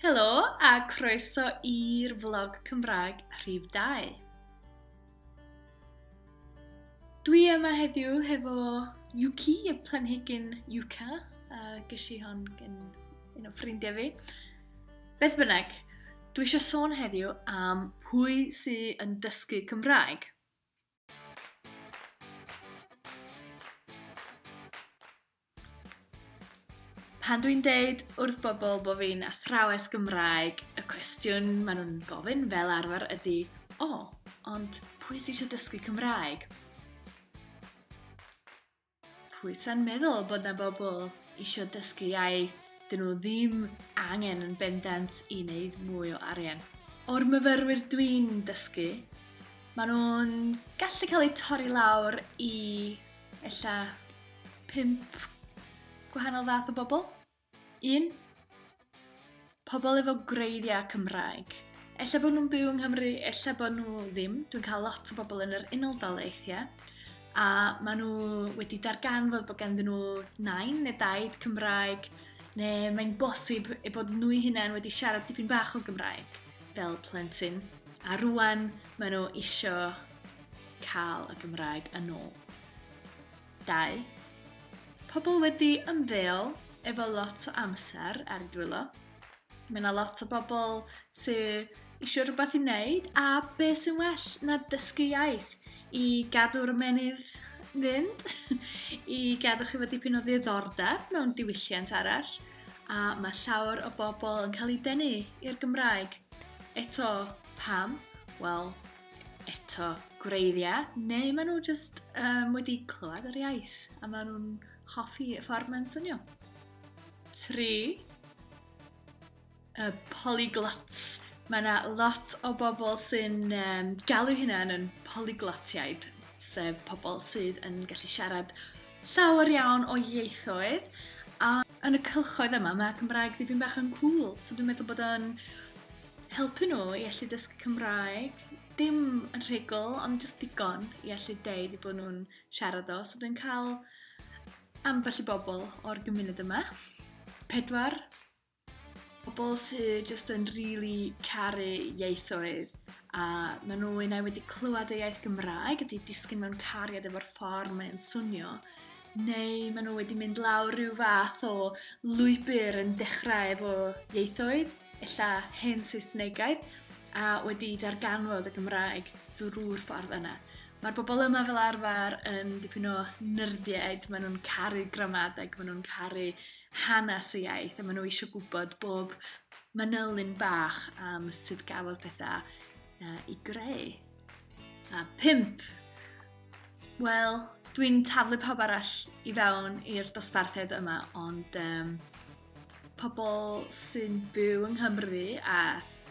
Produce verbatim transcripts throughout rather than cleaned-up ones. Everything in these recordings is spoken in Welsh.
Helo a croeso i'r vlog Cymraeg rhif dau. Dwi yma heddiw hefo Yuki, y planhigyn Yucca, a ges i hon gen un o ffrindiau fi. Beth bynnag, dwi eisiau sôn heddiw am pwy sydd yn dysgu Cymraeg. Pan dwi'n deud wrth bobl bod fi'n athrawes Gymraeg, y cwestiwn maen nhw'n gofyn fel arfer ydy, o, oh, ond pwy sydd eisiau dysgu Cymraeg? Pwy sy'n meddwl bod na bobl eisiau dysgu iaith, dyn nhw ddim angen yn bendant i wneud mwy o arian. O'r myfyrwyr dwi'n dysgu, maen nhw'n gallu cael eu torri lawr i ella pump gwahanol fath o bobl. Un, pobl efo gwreiddiau Cymraeg. Ella bod nhw'n byw yng Nghymru, ella bod nhw ddim. Dwi'n cael lot o bobl yn yr Unol Daleithiau a maen nhw wedi darganfod bod ganddyn nhw nain neu daid Cymraeg, neu mae'n bosib eu bod nhw eu hunain wedi siarad dipyn bach o Gymraeg fel plentyn. A rwan maen nhw isio cael y Gymraeg yn ôl. Dau, pobl wedi ymddeol efo lot o amser ar eu dwylo. Mae yna lot o bobl sydd eisiau rhywbeth i wneud, a beth sy'n well na dysgu iaith i gadw'r ymennydd fynd, i gadw chi efo dipyn o ddiddordeb mewn diwylliant arall, a mae llawer o bobl yn cael eu denu i'r Gymraeg. Eto, pam? Wel, eto gwreiddiau, neu maen nhw jyst um, wedi clywed yr iaith, a maen nhw'n hoffi y ffordd mae'n swnio. Tri, y polyglots. Mae yna lot o bobl sy'n um, galw hunain yn polyglotiaid, sef pobl sydd yn gallu siarad llawer iawn o ieithoedd, a yn y cylchoedd yma mae Cymraeg dipyn bach yn cool, so dwi'n meddwl bod o'n helpu nhw i allu dysgu Cymraeg, dim yn rhugl, ond jyst digon i allu deud eu bod nhw'n siarad o, so dwi'n cael ambell i bobl o'r gymuned yma. Pedwar, pobl sydd jyst yn really caru ieithoedd, a maen nhw unai wedi clywed y iaith Gymraeg a wedi disgyn mewn cariad efo'r ffordd mae'n swnio, neu maen nhw wedi mynd lawr rhyw fath o lwybr yn dechrau efo ieithoedd, ella hen Saesnegaidd, a wedi darganfod y Gymraeg drwy'r ffordd yna. Mae'r bobl yma fel arfer yn dipyn o nyrdiaid, maen nhw'n caru gramadeg, maen nhw'n caru hanes y iaith, a maen nhw eisiau gwybod bob manylyn bach am sut gafodd pethau uh, i greu. A pump, wel, dwi'n taflu pawb arall i fewn i'r dosbarthiad yma, ond um, pobl sy'n byw yng Nghymru a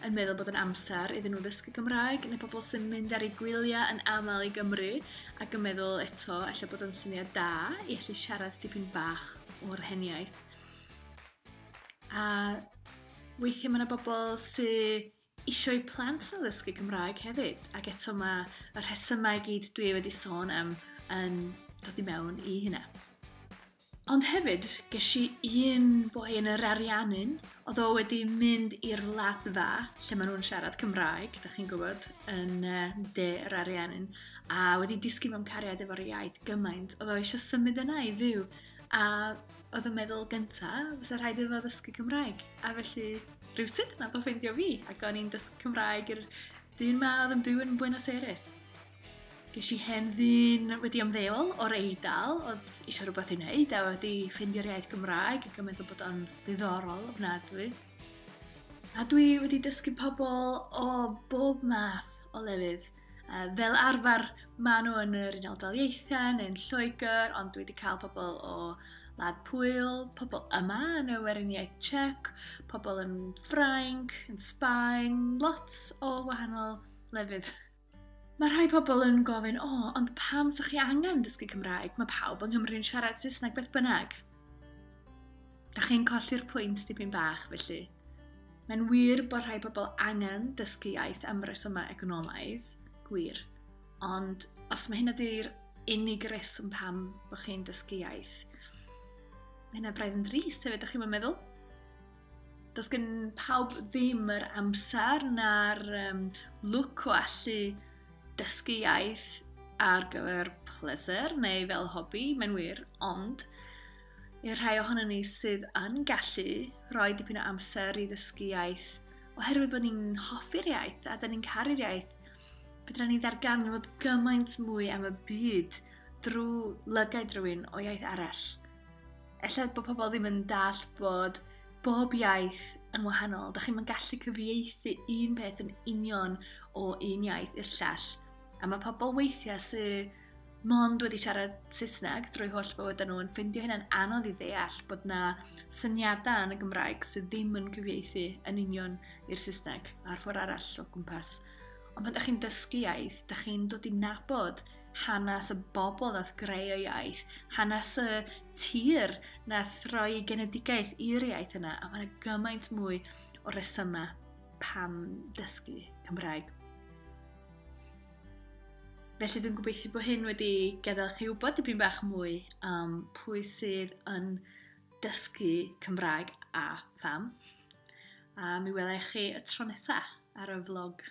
yn meddwl bod yn amser iddyn nhw ddysgu Cymraeg, neu pobl sy'n mynd ar eu gwyliau yn aml i Gymru ac yn meddwl eto ella bod o'n syniad da i allu siarad dipyn bach o'r heniaith. A weithiau mae yna bobl sydd eisiau eu plant nhw ddysgu Cymraeg hefyd, ac eto mae y rhesymau i gyd dwi wedi sôn am yn dod i mewn i hynna. Ond hefyd, ges i un boi yn yr Ariannin, oedd o wedi mynd i'r Wladfa, lle maen nhw'n siarad Cymraeg, da chi'n gwybod, yn uh, de yr Ariannin, a wedi disgyn mewn cariad efo'r iaith gymaint, oedd o eisiau symud yna i fyw, a oedd yn meddwl gynta, fysa rhaid iddo fo ddysgu Cymraeg, a felly rhywsut nath o ffeindio fi, ac o'n i'n dysgu Cymraeg i'r dyn ma oedd yn byw yn Buenos Aires. Ges i hen ddyn wedi ymddeol o'r Eidal, oedd eisiau rhywbeth i wneud a wedi ffeindio'r iaith Gymraeg ac yn meddwl bod o'n ddiddorol ofnadwy. A dwi wedi dysgu pobl o bob math o lefydd. Fel arfer, maen nhw yn yr Unol Daleithiau neu'n Lloegr, ond dwi wedi cael pobl o Wlad Pwyl, pobl yma yn y Weriniaeth Czech, pobl yn Ffrainc, yn Sbaen, lot o wahanol lefydd. Mae rhai pobl yn gofyn, o, oh, ond pam sa'ch chi angen dysgu Cymraeg? Mae pawb yng Nghymru'n siarad Saesneg beth bynnag. Da chi'n colli'r pwynt dipyn bach, felly. Mae'n wir bod rhai pobl angen dysgu iaith am resymau economaidd, gwir. Ond os mae hynna di'r unig reswm pam bod chi'n dysgu iaith, mae hynna braidd yn drist hefyd, da chi'n meddwl? Does gen pawb ddim yr amser na'r um, lwc o allu dysgu iaith ar gyfer pleser neu fel hobi, mae'n wir, ond i'r rhai ohono ni sydd yn gallu rhoi dipyn o amser i ddysgu iaith, oherwydd bod ni'n hoffi'r iaith a da ni'n caru'r iaith, fedra ni ddarganfod gymaint mwy am y byd drwy lygaid rhywun o iaith arall. Ella bod pobl ddim yn dallt bod bob iaith yn wahanol. Dach chi'm yn gallu cyfieithu un peth yn union o un iaith i'r llall. A mae pobl weithiau sydd mond wedi siarad Saesneg drwy holl bywydau nhw yn ffindio hynna'n anodd i ddeall bod na syniadau yn y Gymraeg sydd ddim yn cyfieithu yn union i'r Saesneg a'r ffordd arall o gwmpas. Ond pan ydych chi'n dysgu iaith, ydych chi'n dod i nabod hanes y bobl nath greu y iaith, hanes y tir nath roi genedigaeth i'r iaith yna, a mae yna gymaint mwy o resymau pam dysgu Cymraeg. Felly dwi'n gobeithio bod hyn wedi gadael chi wybod dipyn bach mwy am pwy sydd yn dysgu Cymraeg a pham. A mi welai chi y tro nesaf ar y vlog.